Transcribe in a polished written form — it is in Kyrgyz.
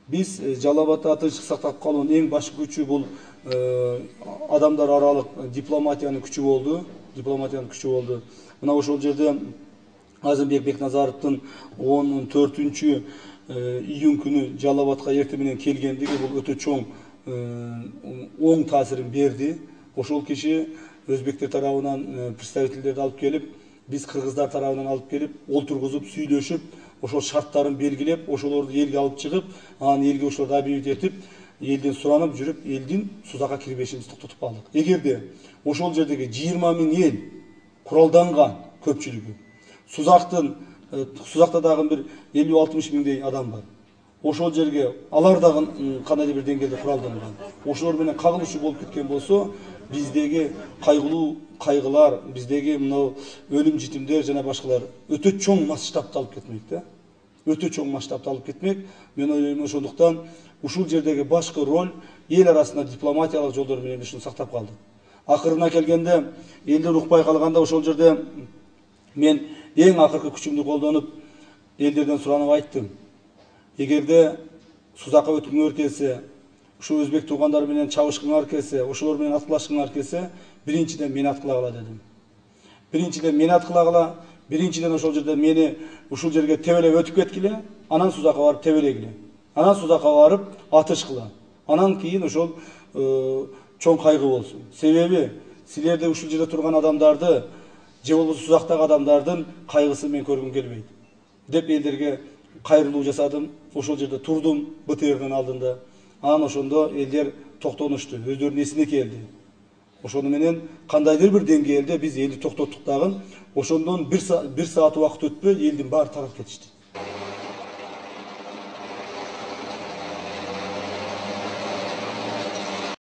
Биз Жалал Абадта тынчтык сактап калуунун эң башкы күчү бул адамдар аралык дипломатиянын күчү болду. Мына ошол жерде Азымбек Бекназаровдун 14 июнь күнү Жалал Абадка эртең менен келгендиги бул өтө чоң оң таасирин берди. Ошол киши өзбектер тарабынан представительдерди алып келип, биз кыргыздар тарабынан алып келип, олтургузуп, сүйлөшүп, ошол шарттарын белгилеп, ошолорду элге алып чыгып, анан элге ошолорду объявить этип, элден суранып жүрүп, элдин Сузакка кирбешин токтотуп калдык. Эгерде ошол жердеги 20 000 эл куралданган көпчүлүгү, Сузакта дагы бир 50-60 миңдей адам бар. Ошол жерге алар дагы кандайдыр бир деңгээлде куралданган. Ошолор менен кагылышуу болуп кеткен болсо, биздеги кайгылуу кайгылар, биздеги мына өлүм житимдер жана башкалар өтө чоң масштабта алып кетмек да. Өтө чоң масштабта алып кетмек. Мен ойлойм, ошондуктан ушул жердеги башкы роль эл арасында дипломатиялык жолдор менен ушуну сактап калдык. Акырына келгенде элдер укпай калганда ошол жерде мен эң акыркы күчүмдү колдонуп элдерден суранып айттым. Эгерде Сузакка өткүңөр келсе, ушу өзбек туугандар менен чабышкыңар келсе, ошолор менен аткылашкыңар келсе, биринчиден мени аткылагыла дедим. Биринчиден мени аткылагыла, биринчиден ошол жерде мени ушул жерге тебелеп өтүп кеткиле, анан Сузакка барып тебелегиле. Анан Сузакка барып атышкыла. Анан кийин ошол чоң кайгы болсун. Себеби силерде ушул жерде турган адамдарды, же болбосо Сузактагы адамдардын кайгысын мен көргүм келбейт деп элдерге кайрылуу жасадым. Ошол жерде турдум БТРдин алдында. Анан ошондо элдер токтонушту, өздөрүнүн эсине келди. Ошону менен кандайдыр бир деңгээлде биз элди токтоттук дагы. Ошондон 1 саат убакыт өтпөй элдин баары тарап кетишти.